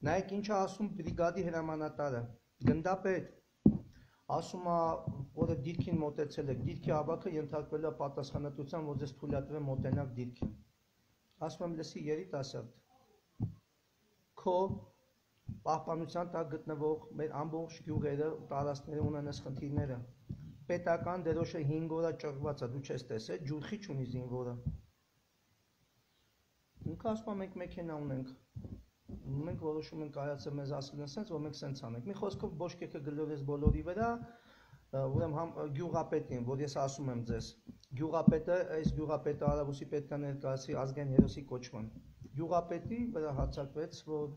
Նայեք ինչ է ասում բրիգադի հրամանատարը, գնդապետ, ասում է, որը դիրքին մոտեցել եք, դիրքի ավագը ենթարկվել է պատասխանատվության, որ ձեզ թույլատրվի մոտենաք դիրքին։ Ասում եմ, լսի երիտասարդ, քո պահպանության տակ գտնվող մեր ամբողջ գյուղերը ու տարածքները ունեն այս խնդիրները։ Պետական դերոշը 5 օր ճռված է, դու չես տեսել, ջուրխի չունի զինվորը։ Ինքը ասում է, մենք մեքենա ունենք, մենք որոշում ենք կայացել մեզ ասել են սենց, որ մենք սենց անենք։ Մի խոսքով բոշկեքը գլորես բոլորի վրա, ուրեմն գյուղապետին, որ ես ասում եմ ձեզ, գյուղապետը, այս գյուղապետը Արաբուսի պետք է ներկայացի ազգային հերոսի կոչման։ Գյուղապետի վրա հարձակվեց, որ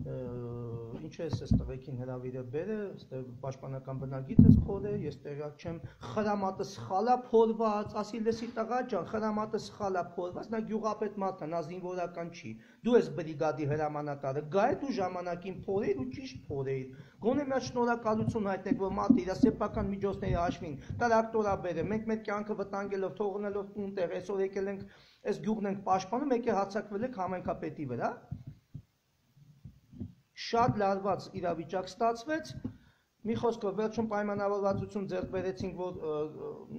ինչ է այս տղեկին հրավիրը բերը, պաշտպանական բնագիծս փորը, ես տեղյակ չեմ, խրամատը սխալա փորված, ասի լսի տղա ջան, խրամատը սխալա փորված, նա գյուղապետ մարդ է, նա զինվորական չի։ Դու ես բրիգադի հրամանատարը, գա դու ժամանակին փորեիր ու ճիշտ փորեիր։ Գոնե մի հատ շնորհակալություն հայտնեք, որ մարդը իր սեփական միջոցների հաշվին տրակտորա բերը, մենք մեր կյանքը վտանգելով, թողնելով տունտեղ, այսօր եկել ենք, այս գյուղն ենք պաշտպանում, եկել հարձակվել եք համայնքապետի վրա։ Շատ լարված իրավիճակ ստացվեց, մի խոսքով վերջում պայմանավորվածություն ձեռք բերեցինք, որ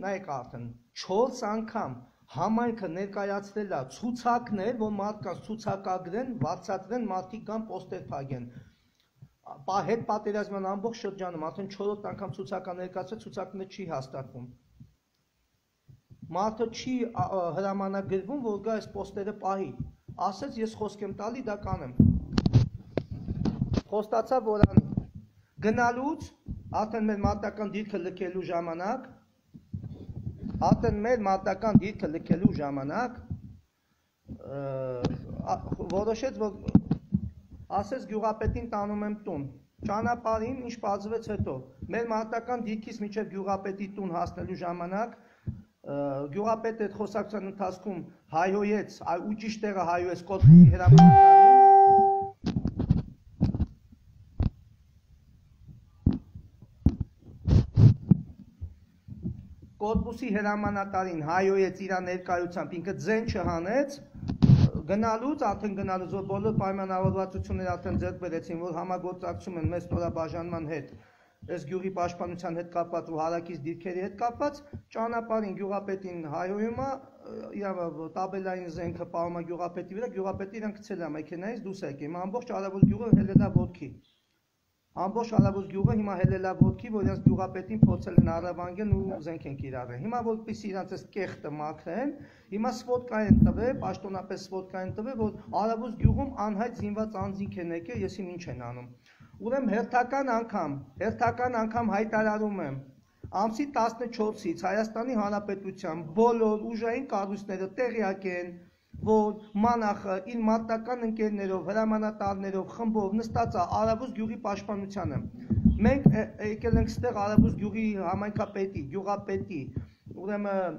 նայեք արդեն 4 անգամ համայնքը ներկայացրել է ցուցակներ, որ մարդկանց ցուցակագրեն, վարձատրեն, մարդիկ կան պոստեր փակեն։ Հետ պատերազմյան ամբողջ շրջանում արդեն 4-րդ անգամ ցուցակա ներկայացրել, ցուցակները չի հաստատվում։ Մարդը չի հրամանագրվում, որ գա այս պոստերը պահի։ Ասեց ես խոսք եմ տալի, դա կանեմ։ Խոստացավ որ անի։ Գնալուց արդեն մեր մարտական դիրքը լքելու ժամանակ, որոշեց, որ ասեց գյուղապետին տանում եմ տուն։ Ճանապարհին ինչ պարզվեց հետո։ Մեր մարտական դիրքից մինչև գյուղապետի տուն հասնելու ժամանակ գյուղապետը այդ խոսակցության ընթացքում հայհոյեց, ու ճիշտ տեղը հայհոյեց Կոդբուսի հրամանատարին։ Կոդբուսի հրամանատարին հայոյեց իր ներկայությամբ, ինքը ձեն չհանեց, գնալուց, որ բոլոր պայմանավորվածությունները արդեն ձեռք բերեցին, որ համագործակցում են մեր ստորաբաժանման հետ, այս գյուղի պաշտպանության հետ կապված ու հարակից դիրքերի հետ կապված, ճանապարհին գյուղապետին հայոյում է, տաբելային զենքը պահում է գյուղապետի վրա, գյուղապետը իրան գցել է մեքենայից դուրս եկել, ամբողջ Արաբոս գյուղը հելել է ոտքի։ Ամբողջ Արաբոս գյուղը հիմա հելել է ոտքի, որ իրենց գյուղապետին փորձել են առևանգեն ու զենք են կիրառել։ Հիմա որպեսզի իրենց այս կեղտը մաքրեն, հիմա սվոդկա են տվել, պաշտոնապես սվոդկա են տվել, որ Արաբոս գյուղում անհայտ զինված անձինք են եկել, եսիմ ինչ են անում։ Ուրեմն հերթական անգամ հայտարարում եմ, ամսի 14-ից Հայաստանի Հանրապետության բոլոր ուժային կառույցները տեղյակ են, որ մանախը իր մարտական ընկերներով, հրամանատարներով, խմբով նստած է Արաբոս գյուղի պաշտպանությանը։ Մենք եկել ենք ստեղ Արաբոս գյուղի համայնքապետի, գյուղապետի, ուրեմն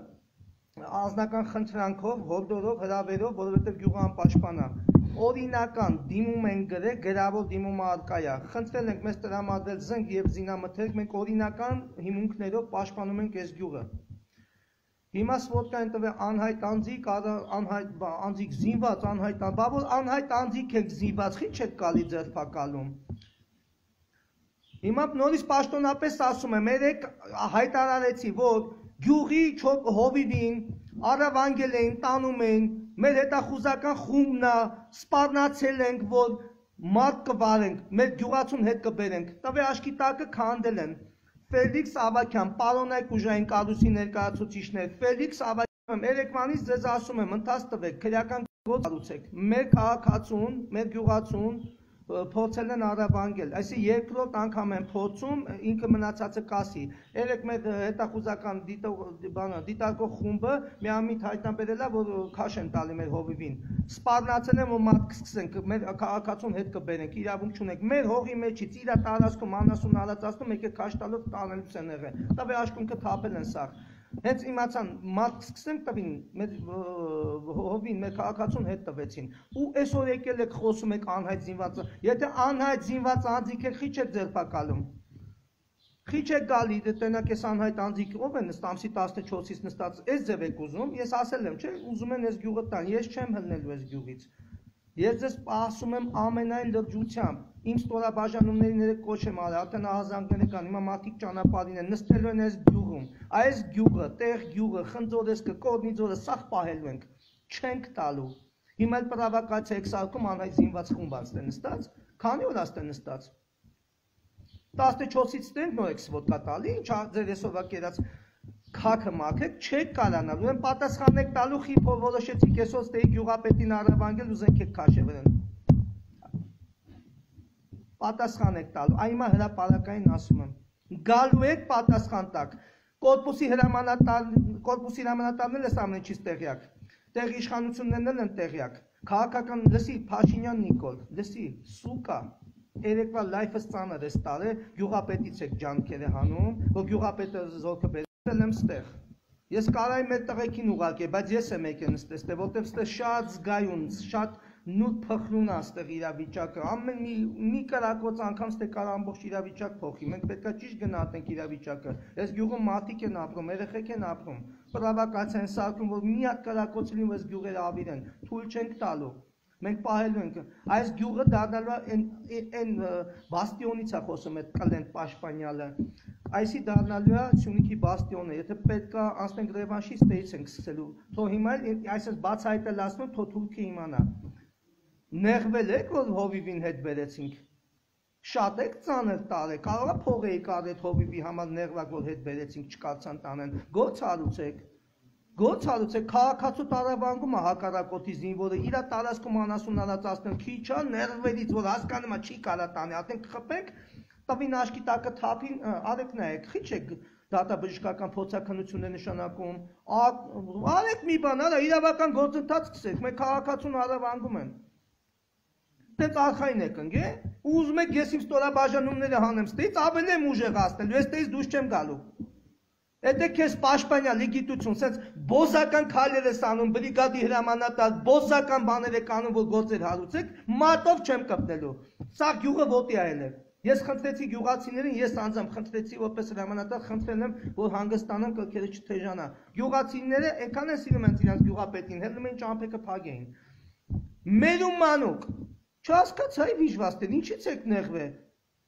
անձնական խնդրանքով, հորդորով, հրավերով, որովհետև գյուղը անպաշտպան է։ Օրինական դիմում են գրել, գրավոր դիմումը արկա է։ Խնդրել ենք մեզ տրամադրել զենք եւ զինամթերք, մենք օրինական հիմունքներով պաշտպանում ենք այս գյուղը։ Հիմա սվոդկա են տվել անհայտ անձիկ, անձիկ զինված, բա որ անհայտ անձիկ եք զինված, խի չեք գալի ձերբակալում։ Հիմա նորից պաշտոնապես ասում եմ, երեք հայտարարեցի, որ գյուղի հովիվին առավանգել էին, տանում էին, մեր հետախուզական խումբն է, սպառնացել ենք, որ մարդ կվարենք, մեր գյուղացուն հետ կբերենք, տվե աշկի տակը քանդել են։ Ֆելիքս Ավակյան, պարոնայք ուժային կառույցի ներկայացուցիչներ, Ֆելիքս Ավակյան, երեկվանից ձեզ ասում եմ, ընթաց տվեք, քրեական գործ կառուցեք։ Մեր քաղաքացուն, մեր գյուղացուն փորձել են առավանգել, այսինքն երկրորդ անգամ են փորձում, ինքը մնացածը կասի։ Երեք մեր հետախուզական դիտարկող խումբը միամիտ հայտնաբերել է, որ քաշ են տալի մեր հովիվին։ Սպառնացել են, որ մարդ կսկսենք, մեր քաղաքացուն հետ կբերենք, իրավունք չունենք։ Մեր հողի մեջից իր տարածքում անասուն հալածացնում, եկեք քաշ տալով տանելուց են եղել։ Տվե աշկունքը թափել են սաղ։ Հենց իմացան մարդ կսկսենք տվին, մեր հովին, մեր քաղաքացուն հետ տվեցին։ Ու այսօր եկել եք խոսում եք անհայտ զինված, եթե անհայտ զինված անձիկ եք, խի չեք ձերբակալում։ Խի չեք գալի, տնակ ես անհայտ անձիկ ով է նստած, ամսի 14-ից նստած, այս ձև եք ուզում, ես ասել եմ, չէ, ուզում են այս գյուղը տան, ես չեմ հլնելու այս գյուղից։ Ես ձեզ ասում եմ ամենայն լրջությամբ իմ ստորաբաժանումների ներեք կոչ եմ արել, արդեն ահազանգները կան, հիմա մարդիկ ճանապարհին են, նստելու են այս գյուղում, այս գյուղը, տեղ գյուղը, խնձորեսկը, կորնիձորը, սաղ պահելու ենք, չենք տալու։ Հիմա էլ պրովոկացիա եք սարքում անհայտ զինված խումբ աստ է նստած, քանի օր աստ է նստած։ 14-ից ստենք նոր եք սվոտկա տալի, ինչ ձեր այսօրվա կերած քաքը մաքեք, չեք կարանալ, ուրեմն պատասխան եք տալու խիփ որոշեցիք այսօր ստեի գյուղապետին առավանգել ու զենք եք քաշևրեն։ Պատասխան եք տալու, այ հիմա հրապարակային ասում եմ, գալու եք պատասխան տակ, կորպուսի հրամանատարն էլ էս ամեն ինչից տեղյակ, տեղ իշխանություններն էլ են տեղյակ, քաղաքական լսի Փաշինյան Նիկոլ, լսի, սուկա, երեկվա լայֆս ծանր ես տարել, գյուղապետից եք ջանքերը հանում, որ գյուղապետը զորքը բերել եմ ստեղ։ Ես կարայի մեր տղեկին ուղարկել, բայց ես եմ եկել նստել, որտեղ ստեղ շատ զգայուն, շատ նուր փխրուն է ստեղ իրավիճակը, ամեն մի կրակոց անգամ ստեղ կարող ամբողջ իրավիճակ փոխի, մենք պետք է ճիշտ գնահատենք իրավիճակը, այս գյուղում մարդիկ են ապրում, երեխեք են ապրում, պրովոկացիա են սարքում, որ մի հատ կրակոց լինի, այս գյուղերը ավիրեն, թույլ չենք տալու, մենք պահելու ենք, այս գյուղը դառնալու են բաստիոնից է խոսում այդ կլենտ պաշտպանյալը, այսի դառնալու է Սյունիքի բաստիոնը, եթե պետք է անցնենք ռևանշի ստեից ենք սկսելու, թող հիմա այսպես բացահայտել ասում, թող թուրքը իմանա, նեղվել եք, որ հովիվին հետ բերեցինք, շատ եք ծանր տարել, կարող է փող էիք արել հովիվի համար նեղվակ, որ հետ բերեցինք, չկարծան տանեն, գործ հարուցեք, քաղաքացու տարավանգում է հակառակորդի զինվորը, իրա տարածքում անասուն արածացնել, քիչ է ներվելից, որ հասկանում է չի կարա տանի, ատենք խփենք, տվին աշկի տակը թափին, արեք նայեք, խիչ եք դատաբժշկական փորձաքննություններ նշանակում, արեք մի բան, արա իրավական գործընթաց սկսեք, մեր քաղաքացուն հարավանգում են։ Դες արխային եք ընկե, ուզում եք ես իմ ստորաբաժանումները հանեմ ստեից, ավելի եմ ուժեղացնելու, ես ստեից դուրս չեմ գալու։ Եթե քեզ պաշտպանյալի գիտություն, սենց բոզական քայլեր ես անում, բրիգադի հրամանատար, բոզական բաներ եք անում, որ գործեր հարուցեք, մատով չեմ կպնելու։ Սա գյուղը ոտի այել է։ Ես խնդրեցի գյուղացիներին, ես անձամբ խնդրեցի որպես հրամանատար, խնդրել եմ, որ հանգստանան կրքերը չթեժանա։ Գյուղացիները այնքան են սիրում են իրենց գյուղապետին, հելնում են ճամփեքը փագեին։ Մերում մանուկ, չհասկացա վիժվաստեն, ինչից եք նեղվել։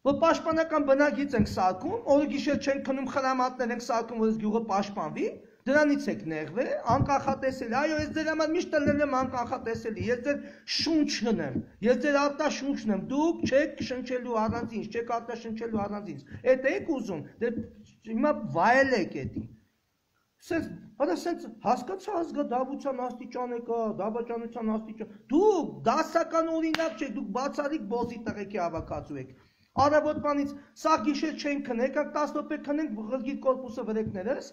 Որ պաշտպանական բնագիծ ենք սարքում, օրը գիշեր չենք քնում, խրամատներ ենք սարքում, որ այս գյուղը պաշտպանվի, դրանից եք նեղվել, անկախատեսելի, այո, ես ձեր համար միշտ ելնեմ անկախատեսելի, ես ձեր շունչն եմ, ես ձեր արտաշունչն եմ, դուք չեք շնչելու առանց ինձ, չեք արտաշնչելու առանց ինձ, էդ եք ուզում, հիմա վայել եք էդի։ Սենց հասկացա ազգադավության աստիճան եկա, դավաճանության աստիճան, դուք դասական օրինակ չեք, դուք բացառիկ բոզի տղեկի հավաքածու եք։ Արավոտմանից սաղ գիշեր չենք քնենք, եկակ 10 րոպե քնենք ղրգիր կորպուսը վրեկներս,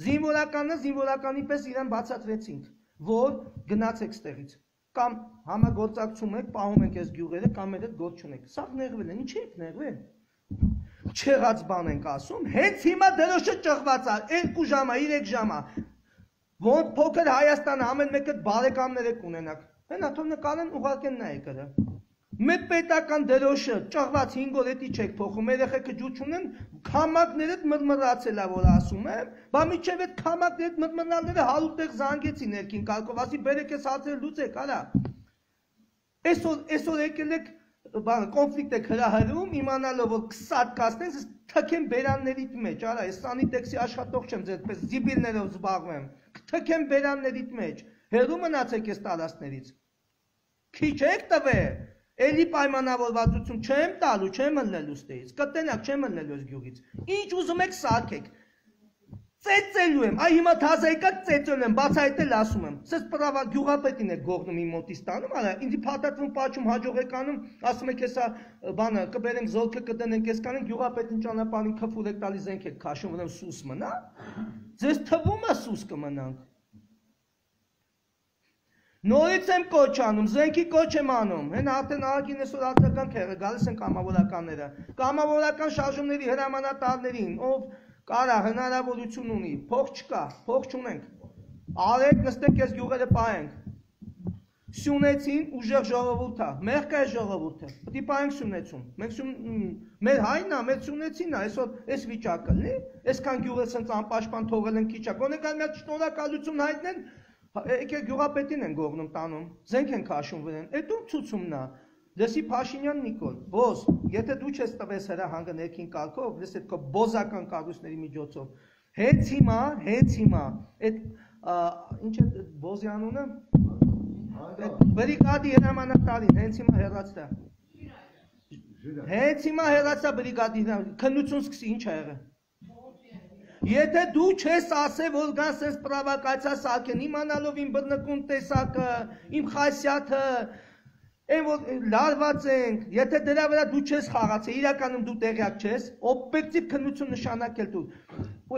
զինվորականի պես իրեն բացատրեցինք, որ գնացեք ստեղից, կամ համագործակցում եք, պահում ենք այս գյուղերը, կամ այդ գործ չունեք, սաղ նեղվել են, ինչ եք նեղվել, չեղած բան ենք ասում, հենց հիմա դրոշը ճղված է, 2 ժամա, 3 ժամա, որ փոքր Հայաստանը ամեն մեկը բարեկամներ եք ունենակ, հենա թող նկարեն ուղարկեն նայեք դրա։ Մեր պետական դրոշը ճղված 5 օր էտի չեք փոխում, երեխեքը ջուր չունեն, քամակներդ մրմռացել է, որ ասում եմ, բա միջև այդ քամակներդ մրմռնալները հարուտեղ զանգեցի ներքին կարգով, ասի բերեք ես հարցերը լուծեք, արա։ Այսօր եկել եք կոնֆլիկտ եք հրահրում, իմանալով որ կսատ կասնեն, թքեմ բերաններիդ մեջ, արա, ես սանիտեքսի աշխատող չեմ, ձեզ զիբիլներով զբաղվեմ, թքեմ բերաններիդ մեջ, հեռու մնացեք ես տարածքներից։ Քիչ եք տվել։ Էլի պայմանավորվածություն չեմ տալու, չեմ ըլնելու ստեից, կտնակ չեմ ըլնելու ես գյուղից, ինչ ուզում եք սարքեք, ծեծելու եմ, այ հիմա թազա եկակ ծեծելու եմ, բացահայտել ասում եմ, սես պրավա գյուղապետին եք գողնում իմ մոտից տանում, արա, ինձի փաթաթվում պաչում հաջող եք անում, ասում եք հեսա բանը, կբերենք զորքը կդնենք ես կանենք, գյուղապետին ճանապարհին քֆուր եք տալի զենք եք քաշում, ուրեմն սուս մնա, ձեզ թվում է սուս կմնանք։ Նորից եմ կոչ անում, զենքի կոչ եմ անում, հեն արդեն ահագին այսօր արձական քեղը, գալիս են կամավորականները, կամավորական շարժումների հրամանատարներին, ով կարա հնարավորություն ունի, փող չկա, փող չունենք, արեք նստեք ես գյուղերը պահենք, Սյունեցին ուժեղ ժողովուրդ է, մեղք է ժողովուրդը, պետք է պահենք Սյունեցում, մեր հայն է, մեր Սյունեցին է, այսօր այս վիճակը, այսքան գյուղը սենց անպաշտպան թողել են քիչ է, գոնե կան մի հատ շնորհակալություն հայտնեն, Եկեք գյուղապետին են գողնում տանում, զենք են քաշում վրան, այդ ում ցուցումն է։ Լսի Փաշինյան Նիկոլ, բոզ, եթե դու չես տվես հրահանգը ներքին կարգով, լսի այդ քո բոզական կառույցների միջոցով, հենց հիմա, այդ ինչ է բոզի անունը, բրիգադի հրամանատարին, հենց հիմա հեռացրա։ Հենց հիմա հեռացա բրիգադի հրամանատարին, քննություն սկսի, ինչ ա եղել։ Եթե դու չես ասե, որ գան սենց պրավակացիա սարքեն, իմանալով իմ բռնկուն տեսակը, իմ խասյաթը, այն որ լարված ենք, եթե դրա վրա դու չես խաղացել, իրականում դու տեղյակ չես, օբյեկտիվ քննություն նշանակել դու։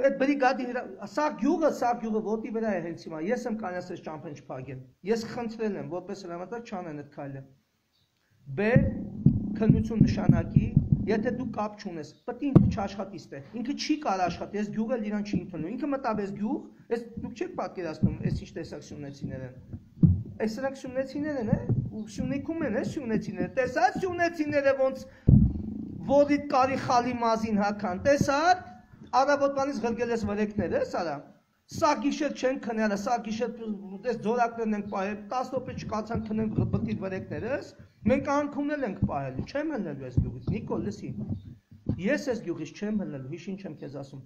Այդ բրիգադի սա գյուղը ոտի վրա է հենց հիմա, ես եմ կանասես ճամփեն չփակել, ես խնդրել եմ, որպես հրամանատար չանեն այդ քայլը։ B քննություն նշանակի, եթե դու կապ չունես, պետք է ինքը չաշխատի ստեղ, ինքը չի կարող աշխատի, այս գյուղը իրան չի ընդունում, ինքը մտավ այս գյուղ, այս դուք չեք պատկերացնում, այս ինչ տեսակ սյունեցիներ են, այս սրանք սյունեցիներ են, ու Սյունիքում են, սյունեցիները, տեսա՞ց սյունեցիները ոնց ոդիդ կարի խալի մազին հական, տեսա՞ց, առավոտվանից ղրգել ես վրեկները, սարա, սա գիշեր չեն քնել, սա գիշեր այս ձորակներն ենք պահել, 10 րոպե չկացան քնենք բտի վրեկներս, մենք անքունել ենք պահել, չեմ հլնելու այս գյուղից, Նիկոլ, լսի, ես այս գյուղից չեմ հլնելու, հիշ ինչ եմ քեզ ասում,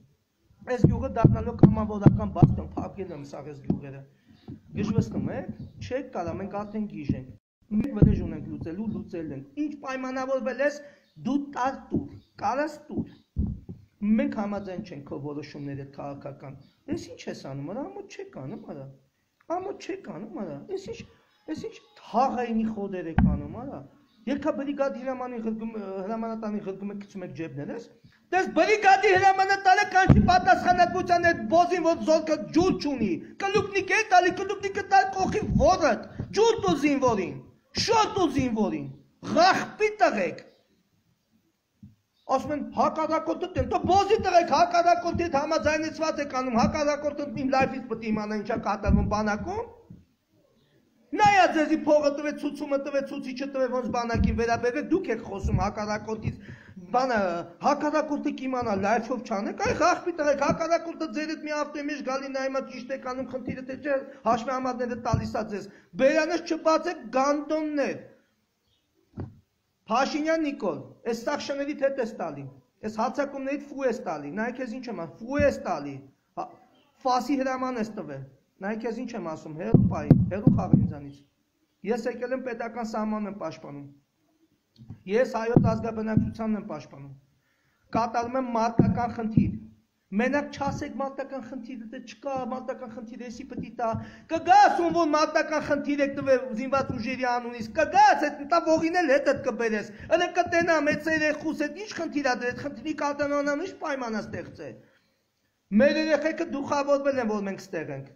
այս գյուղը դառնալու կամավորական բաստիոն, փակել եմ սաղ այս գյուղերը, գժվստում եք, չեք կարա, մենք արդեն գիժ ենք, մենք վրեժ ունենք լուծելու, լուծել ենք, ինչ պայմանավորվել ես, դու տար տուր, կարաս տուր, մենք համաձայն չենք քո որոշումները քաղաքական, ես ինչ ես անում, ամոթ չեք անում, ամոթ չեք անում, ես ինչ թաղայինի խոդեր եք անում, երկա բրիգադի հրամանատարի ղրգում եք գցում եք ջեբներս, դες բրիգադի հրամանատարը կանչի պատասխանատվության այդ բոզին, որ զորքը ջուր չունի, կլուկնիկ է տալի, կլուկնիկը տալ կողի որդ, ջուր տու զինվորին, շոտ ու զինվորին, ղախպի տղեք, ասում են հակառակորդը տեն, դու բոզի տղեք, հակառակորդի հետ համաձայնեցված եք անում, հակառակորդը իմ լայֆից պետք է իմանա ինչա կատարվում բանակում, նայա ձեզի փողը տվեց, ցուցումը տվեց, ցուցիչը տվեց, ոնց բանակին վերաբերվեք, դուք եք խոսում հակառակորդից, բանը հակառակորդը կիմանա լայֆով չանեք, այ ղախպի տղեք, հակառակորդը ձեր հետ մի ավտոյի մեջ գալի նայումա ճիշտ եք անում, խնդիրը թե չէ, հաշվեհամարները տալիս է ձեզ, բերանս չբացեք գանդոններ, Փաշինյան Նիկոլ, այս սախշաներիդ հետ ես տալի, այս հացակումներիդ ֆու ես տալի, նայք ես ինչ եմ ասում, ֆու ես տալի, ֆասի հրաման ես տվել, նայք ես ինչ եմ ասում, հերու պայի, հերու խաղ ինձանից, ես եկել եմ պետական սահմանն եմ պաշտպանում, ես հայոց ազգաբնակչությանն եմ պաշտպանում, կատարում եմ մարտական խնդիր, մենակ չասեք մարտական խնդիրը չկա, մարտական խնդիրը էսի պետք է տա, կգաս ում որ մարտական խնդիր եք տվել զինված ուժերի անունից, կգաս այդ տա ողին էլ հետդ կբերես, ըլը կտենա մեծ երեխուս այդ ինչ խնդիր ա դեր, այդ խնդիրի կատարմանան ինչ պայմանա ստեղծե, մեր երեխեքը դուխավորվել են, որ մենք ստեղ ենք,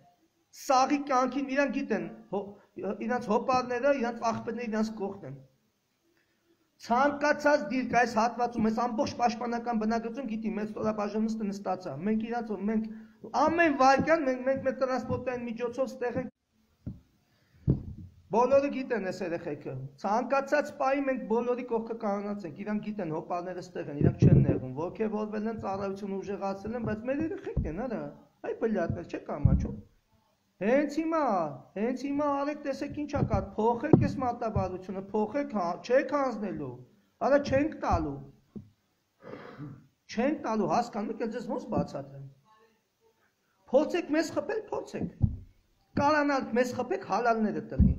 սաղի կյանքին իրանք գիտեն, իրանց հոպարները, իրանց աղբերները իրանց կողքն են, ցանկացած դիրք այս հատվածում, այս ամբողջ պաշտպանական բնակչություն գիտի, մեծ ստորաբաժանումը նստած է, մենք իրանց, մենք ամեն վայրկյան, մենք մեր տրանսպորտային միջոցով ստեղ ենք, բոլորը գիտեն այս երեխեքը, ցանկացած պահի մենք բոլորի կողքը կանգնած ենք, իրանք գիտեն, հոպարները ստեղ են, իրանք չեն նեղում, ոգևորվել են, ծառայություն ուժեղացել են, բայց մեր երեխեքն են, արա, այ բլյատներ, չեք ամաչում, հենց հիմա արեք տեսեք ինչ ա կատ, փոխեք այս մարտավարությունը, փոխեք, չեք հանձնելու, արա չենք տալու, հասկանում եք, ձեզ ոնց բացատրեմ, փորձեք մեզ խփել, փորձեք, կարանալ մեզ խփեք, հալալները տնի,